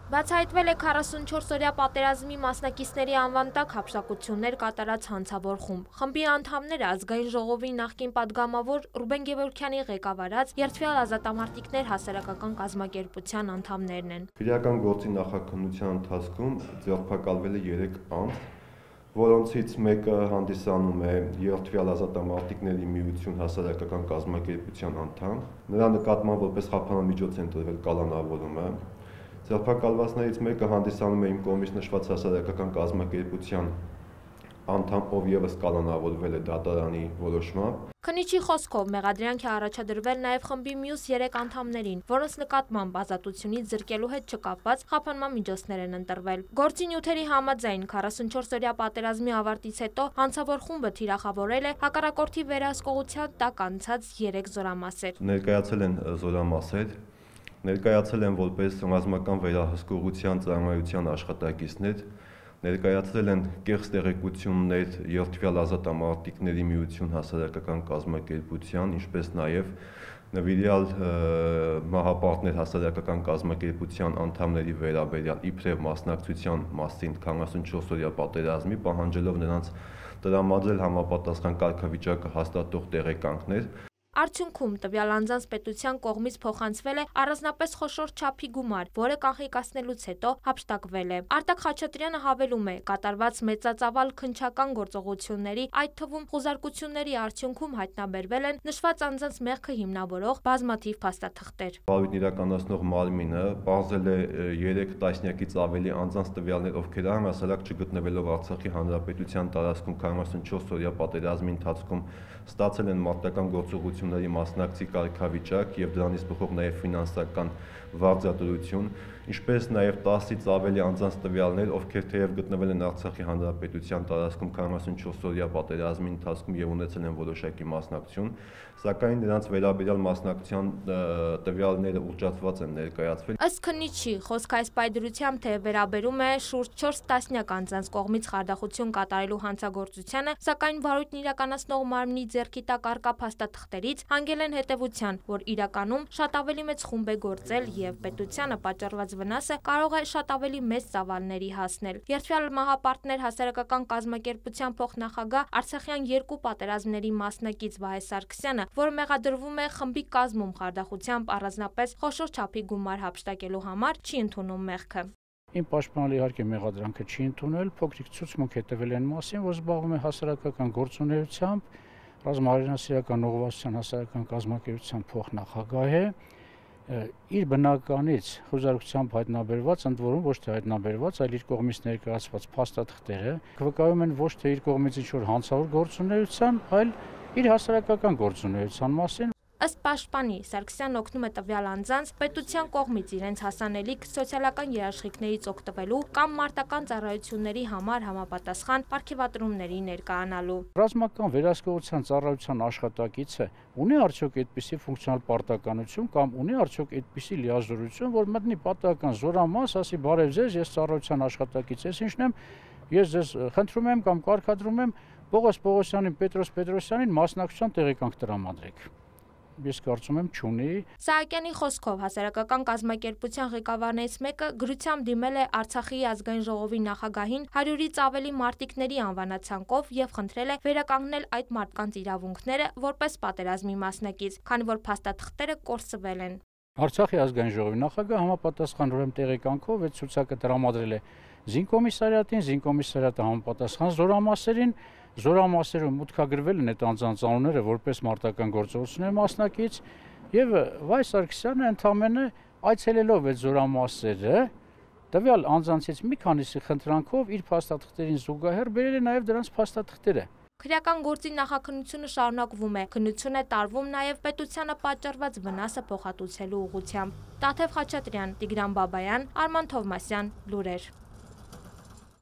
Բացահայտվել է 44-օրյա պատերազմի մասնակիցների անվան տակ հափշտակություններ կատարած հանցավոր խումբ։ Խմբի անդամները Ազգային ժողովի նախկին падգամավոր Ռուբեն Գևորգյանի ղեկավարած Երդվյալ ազատամարտիկներ հասարակական կազմակերպության անդամներն են։ Քրեական գործի նախաքննության ընթացքում ձերբակալվել է 3 անձ, որոնցից մեկը հանդիսանում է Երդվյալ ազատամարտիկների միություն հասարակական կազմակերպության անդամ։ Նրա նկատմամբ որպես խափանամիջոց են տրվել կալանավորումը։ Ձերբակալվածներից մեկը հանդիսանում է իմ կողմից նշված հասարակական կազմակերպության անդամ, ով ևս կալանավորվել է դատարանի որոշմամբ։ Քննիչի խոսքով մեղադրանք է առաջադրվել նաև խմբի մյուս 3 անդամներին, որոնց նկատմամբ ազատությունից զրկելու հետ չկապված խափանման միջոցներ են ընտրվել։ Գործի նյութերի համաձայն 44-օրյա պատերազմի ավարտից հետո հանցավոր խումբը թիրախավորել է հակառակորդի վերահսկողության տակ անցած 3 զորամասեր։ Ներկայացել են զորամասեր, ներկայացել են որպես ռազմական վերահսկողության ծառայության աշխատակիցներ, ներկայացրել են կեղծ տեղեկություններ Երդվյալ ազատամարտիկների միություն հասարակական կազմակերպության, ինչպես նաև նվիրյալ մահապարտներ հասարակական կազմակերպության անդամների վերաբերյալ իբրև մասնակցության մասին 44-օրյա պատերազմի, պահանջելով նրանց տրամադրել համապատասխան կարգավիճակը հաստատող տեղեկանքներ։ Արդյունքում տվյալ անձանց պետության կողմից փոխանցվել է առանձնապես խոշոր չափի գումար, որը կանխիկացնելուց հետո հափշտակվել է։ Արտակ Խաչատրյանը հավելում է, կատարված մեծածավալ քննչական գործողությունների, այդ թվում խուզարկությունների արդյունքում հայտնաբերվել են նշված անձանց մեղքը հիմնավորող բազմաթիվ փաստաթղթեր։ Վարույթն իրականացնող մարմինը պարզել է 3 տասնյակից ավելի անձանց տվյալներ, ովքեր առհասարակ չգտնվելով Արցախի հանրապետության տարածքում 44-օրյա պատերազմի ընթացքում ստացել են մարտական գործողությունների մասնակցի կարգավիճակ եւ դրանից բխող նաև ֆինանսական վարձատրություն, ինչպես նաև 10-ից ավելի անձանց տվյալներ, ովքեր թեև գտնվել են Արցախի հանրապետության տարածքում 44-օրյա պատերազմի ընթացքում եւ ունեցել են որոշակի մասնակցություն, սակայն նրանց վերաբերյալ մասնակցության տվյալները ուռճացված են ներկայացվել։ Ըստ քննիչի, խոսքը այս պայդրությամբ թե վերաբերում է շուրջ 4 տասնյակ անձանց կողմից խարդախություն կատարելու հանցագործությանը, սակայն վարույթն իրականացնող մարմնի ձեռքի տակ առկա փաստաթղթերից հանգել են հետևության, որ իրականում շատ ավելի մեծ խումբ է գործել եւ պետությանը պատճառված վնասը կարող է շատ ավելի մեծ ծավալների հասնել։ Երդվյալ մահապարտներ հասարակական կազմակերպության փոխնախագահ Արցախյան 2 պատերազմների մասնակից Վահե Սարգսյանը, որը մեղադրվում է խմբի կազմում խարդախությամբ առանձնապես խոշոր չափի գումար հափշտակելու համար, չի ընդունում մեղքը։ Իմ պաշտպանյալը իհարկե մեղադրանքը չի ընդունել, փոքրիկ ցուցմունք է տվել այն մասին, որ զբաղվում է հասարակական գործունեությամբ, ռազմահարինասիրական ուղղվածության հասարակական կազմակերպության փոխնախագահ է, իր բնականից խոզարքությամբ հայտնաբերված, ընդ որում ոչ թե հայտնաբերված, այլ իր կողմից ներկայացված փաստաթղթերը վկայում են ոչ թե իր կողմից ինչ-որ հանցավոր գործունեության, այլ իր հասարակական գործունեության մասին։ Ըստ պաշտպանի, Սարգսյանն օգնում է տվյալ անձանց պետության կողմից իրենց հասանելիք սոցիալական երաշխիքներից օգտվելու կամ մարտական ծառայությունների համար համապատասխան պարգևատրումների ներկայանալու։ Ռազմական վերահսկողության ծառայության աշխատակիցը ունի արդյոք այդպիսի ֆունկցիոնալ պարտականություն կամ ունի արդյոք այդպիսի լիազորություն, որ մտնի պատահական զորամաս, ասի բարև ձեզ, ես ծառայության աշխատակից ես, ինչն եմ, ես ձեզ խնդրում եմ կամ կարգադրում եմ Պողոս Պողոսյանին, Պետրոս Պետրոսյանին մասնակցության տեղեկանք տրամադրեք։ Ես կարծում եմ չունի։ Սահակյանի խոսքով հասարակական կազմակերպության ղեկավարներից մեկը գրությամբ դիմել է Արցախի ազգային ժողովի նախագահին 100-ից ավելի մարտիկների անվանացանկով եւ խնդրել է վերականգնել այդ մարդկանց իրավունքները որպես պատերազմի մասնակից, քանի որ փաստաթղթերը կորսվել են։ Արցախի ազգային ժողովի նախագահը համապատասխան ուրեմն տեղեկանքով այդ ցուցակը տրամադրել է զինկոմիսարիատին, զինկոմիսարիատը համապատասխան զորամասերին, զորամասերում մուտքագրվել են այդ անձանց անունները որպես մարտական գործողությունների մասնակից եւ Վահե Սարգսյանը ընդամենը այցելելով այդ զորամասերը տվյալ անձանցից մի քանիսի խնդրանքով իր փաստաթղթերին զուգահեռ բերել է նաեւ դրանց փաստաթղթերը։ Քրեական գործի նախաքննությունը շարունակվում է, քննություն է տարվում նաև պետությանը պատճառված վնասը փոխհատուցելու ուղղությամբ։ Տաթև Խաչատրյան, Տիգրան Բաբայան, Արման Թովմասյան, լուրեր։